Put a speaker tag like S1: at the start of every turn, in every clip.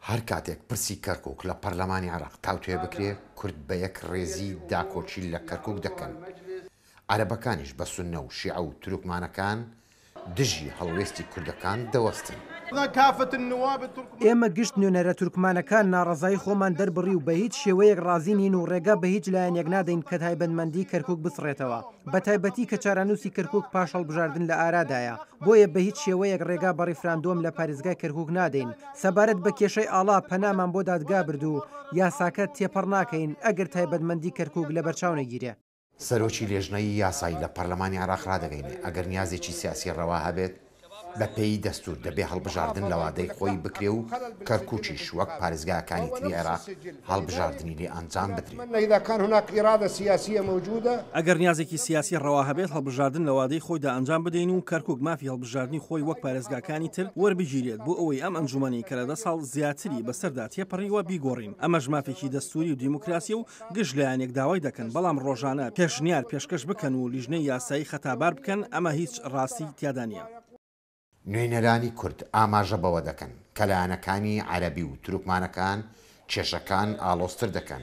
S1: هەر کاتێک پرسی کەرکوک لە پەرلەمانی عێراق تاوتوێ بکرێ، کورد بە یەک ڕێزی داکۆکی لە کەرکوک دەکەن. عەرەبەکانیش بە سوننە و شیعە و تورکمانەکان دژی هەڵوێستی کوردەکان دەوەستن.
S2: ئێمە گشت نوێنەرە تورکمانەکان ناڕەزایی خۆمان دەربڕی و بە هیچ شێوەیەک ڕازی نین و ڕێگا بە هیچ لایەنێک نادەین کە تایبەتمەندی کەرکوک بسڕێتەوە، بەتایبەتی کە چارەنووسی کەرکوک پاش هەڵبژاردن لە ئارادایە، بۆیە بە هیچ شێوەیەک ڕێگا بە ڕیفراندۆم لە پارێزگای کەرکوک نادەین. سەبارەت بە کێشەی ئاڵا پەنامان بۆ دادگا برد و یاساکە تێپەڕ ناکەین ئەگەر تایبەتمەندی کەرکوک لەبەرچاو نەگیرێ.
S1: سەرۆکی لێژنەی یاسایی لە پەرلەمانی عێراق رادەگەینێ، ئەگەر نیازێکی سیاسی رەوا هەبێت، بەپێی دەستوور دەبێ هەڵبژاردن لە وادەی خۆی بکرێ و کەرکوکیش وەک پارێزگاکانی تری عێراق هەڵبژاردنی لێ ئەنجام بدرێ.
S3: ئەگەر نیازێکی سیاسی ڕەوا هەبێت هەڵبژاردن لە وادەی خۆیدا ئەنجام بدەین و کەرکوک مافی هەڵبژاردنی خۆی وەک پارێزگاکانی تر وەربگیرێت بۆ ئەوەی ئەم ئەنجومەنەی کە لە دە ساڵ زیاتری بەسەردا تێپەڕیوە بیگۆڕین ئەمەش مافێکی دەستوری و دیموکراسیە و گشت لایەنێک داوای دەکەن، بەڵام ڕۆژانە پێشنیار پێشکەش بکەن و لیژنەی یاسایی خەتابار بکەن، ئەمە هیچ ڕاستی تیادا نییە.
S1: نوێنەرانی کورد ئاماژە بەوە دەکەن کە لایەنەکانی عەرەبی و تورکمانەکان کێشەکان ئاڵۆزتر دەکەن،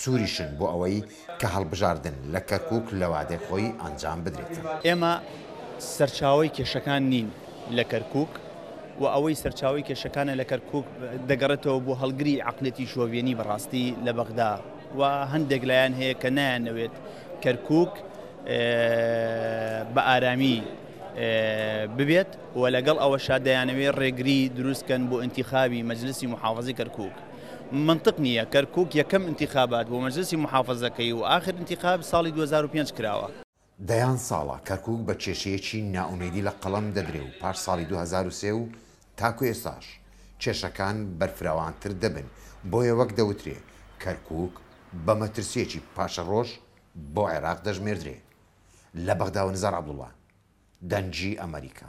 S1: سووریشن بۆ ئەوەی کە هەڵبژاردن لە کەرکووک لە وادەی خۆی ئەنجام بدرێتن.
S4: ئێمە سەرچاوەی کێشەکان نین لە کەرکووک و ئەوەی سەرچاوەی کێشەکانە لە کەرکووک دەگەڕێتەوە بۆ هەڵگری عەقڵیەتی شۆڤێنی بەڕاستی لە بەغدا و هەندێک لایەن هەیە کە نایانەوێت کەرکووک بە ئارامی ببێت و لەگەڵ ئەوەشا دەیانەوێت ڕێگری دروستکەن بۆ ئینتیخابی مەجلسی محافظی کەرکووک. منطق نییە کەرکووک یەکەم ئینتیخابات بۆ مەجلسی محافظەکەی و ئاخر ئینتیخاب ساڵی 2005 کراوە.
S1: دەیان ساڵە کەرکوک بە کێشەیەکی نائومێدی لە قەڵەم دەدرێ و پاش ساڵی 2003 و تاکو ئێستاش کێشەکان بەرفراوانتر دەبن، بۆیە وەک دەوترێ کەرکوک بە مەترسییەکی پاشەڕۆژ بۆ عێراق دەژمێردرێ. لە بەغداوە نزار عەبدوڵا، دەنگی ئەمەریکا.